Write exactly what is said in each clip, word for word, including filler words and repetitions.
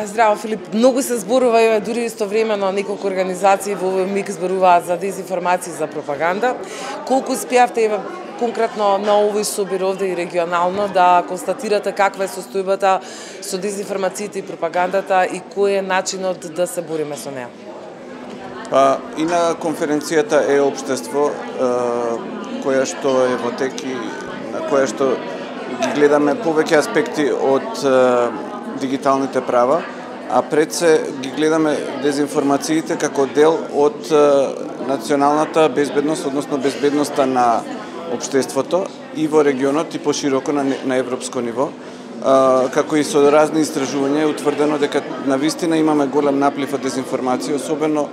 Здраво, Филип. Многу се зборува, и дури истовремено неколку организации во овој миг зборуваат за дезинформации, за пропаганда. Колку успеавте еве конкретно на овој собир овде и регионално да констатирате каква е состојбата со дезинформациите и пропагандата и кој е начинот да се бориме со неа? Па и на конференцијата е општество, која што е во тек и на која што ги гледаме повеќе аспекти од дигиталните права, а пред се ги гледаме дезинформациите како дел од националната безбедност, односно безбедноста на општеството и во регионот и пошироко на, на европско ниво. А, како и со разни истражувања е утврдено дека навистина имаме голем наплив од дезинформација, особено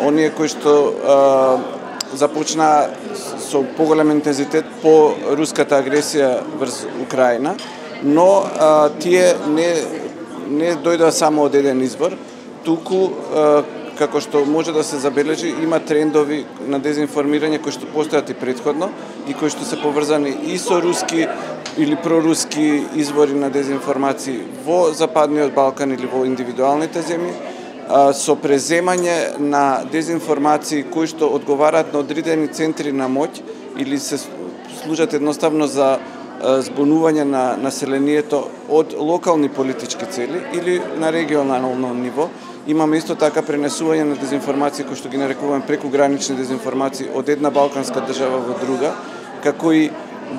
оние кои што а, започнаа со поголем интензитет по руската агресија врз Украина, но а, тие не не дојдоа само од еден извор, туку а, како што може да се забележи, има трендови на дезинформирање кои што постојат и предходно и кои што се поврзани и со руски или проруски извори на дезинформации во Западниот Балкан или во индивидуалните земји, а, со преземање на дезинформации кои што одговараат на одредени центри на моќ или се служат едноставно за збунување на населението од локални политички цели или на регионално ниво. Имаме исто така пренесување на дезинформации кои што ги нарекуваме прекугранични дезинформации од една балканска држава во друга, како и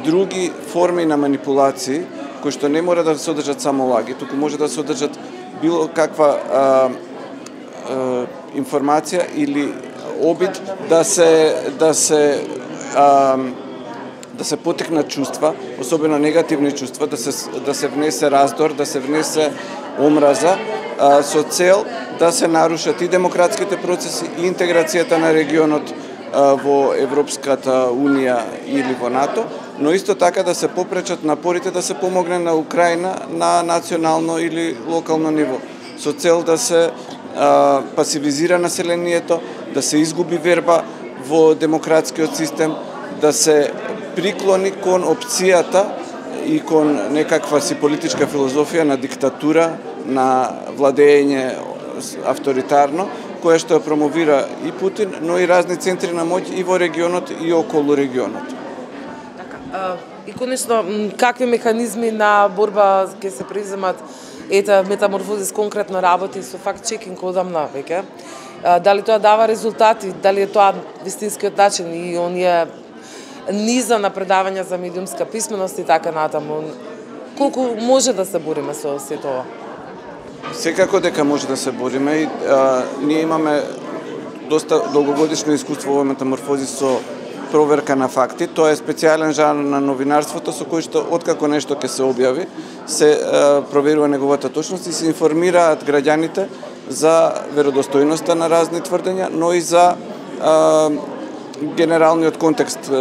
други форми на манипулации кои што не мора да содржат само лаги, туку може да содржат било каква а, а, информација или обид да се да се а, да се потекнат чувства, особено негативни чувства, да се да се внесе раздор, да се внесе омраза, а, со цел да се нарушат и демократските процеси и интеграцијата на регионот а, во Европската унија или во НАТО, но исто така да се попречат напорите да се помогне на Украина на национално или локално ниво, со цел да се а, пасивизира населението, да се изгуби верба во демократскиот систем, да се приклони кон опцијата и кон некаква си политичка филозофија на диктатура, на владење авторитарно, која што ја промовира и Путин, но и разни центри на моќ и во регионот и околу регионот. Така, и конечно, какви механизми на борба ќе се преземат? Ета, Метаморфозис конкретно работи со факт-чекинг одамна веќе. Дали тоа дава резултати? Дали е тоа вистинскиот начин и оние низа на предавања за медиумска писменост и така натаму? Колку може да се бориме со сето ова? Секако дека може да се бориме и а, ние имаме доста долгогодишно искуство во Метаморфозис со проверка на факти. Тоа е специјален жанр на новинарството со кој што откако нешто ќе се објави, се а, проверува неговата точност и се информираат граѓаните за веродостојноста на разни тврдења, но и за а, генералниот контекст.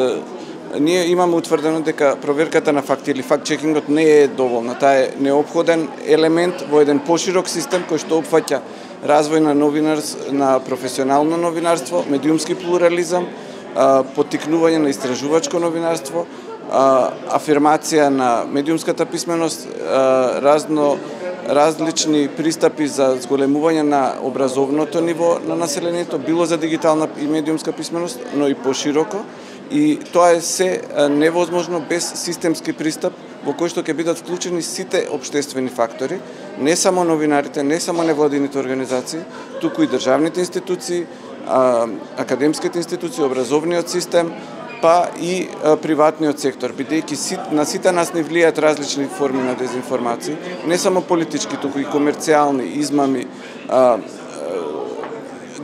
Ние имаме утврдено дека проверката на факти или факт-чекингот не е доволна. Таа е неопходен елемент во еден поширок систем кој што опфаќа развој на новинарс, на професионално новинарство, медиумски плурализам, поттикнување на истражувачко новинарство, афирмација на медиумската писменост, разно различни пристапи за зголемување на образовното ниво на населението, било за дигитална и медиумска писменост, но и пошироко. И тоа е се невозможно без системски пристап во кој што ќе бидат вклучени сите општествени фактори, не само новинарите, не само невладините организации, туку и државните институции, академските институции, образовниот систем, па и приватниот сектор, бидејќи на сите нас не влијаат различни форми на дезинформации, не само политички, туку и комерцијални, измами,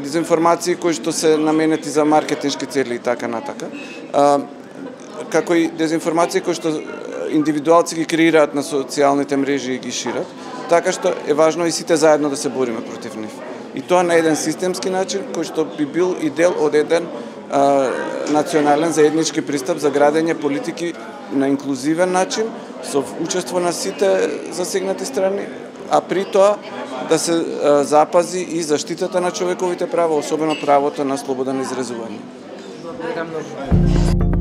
дезинформации кои што се наменети за маркетиншки цели и така натака, а, како и дезинформации кои што индивидуалци ги креираат на социјалните мрежи и ги шират, така што е важно и сите заедно да се бориме против нив. И тоа на еден системски начин кој што би бил и дел од еден а, национален заеднички пристап за градење политики на инклузивен начин со учество на сите засегнати страни, а при тоа да се а, запази и заштитата на човековите права, особено правото на слобода на изразување. Благодарам многу.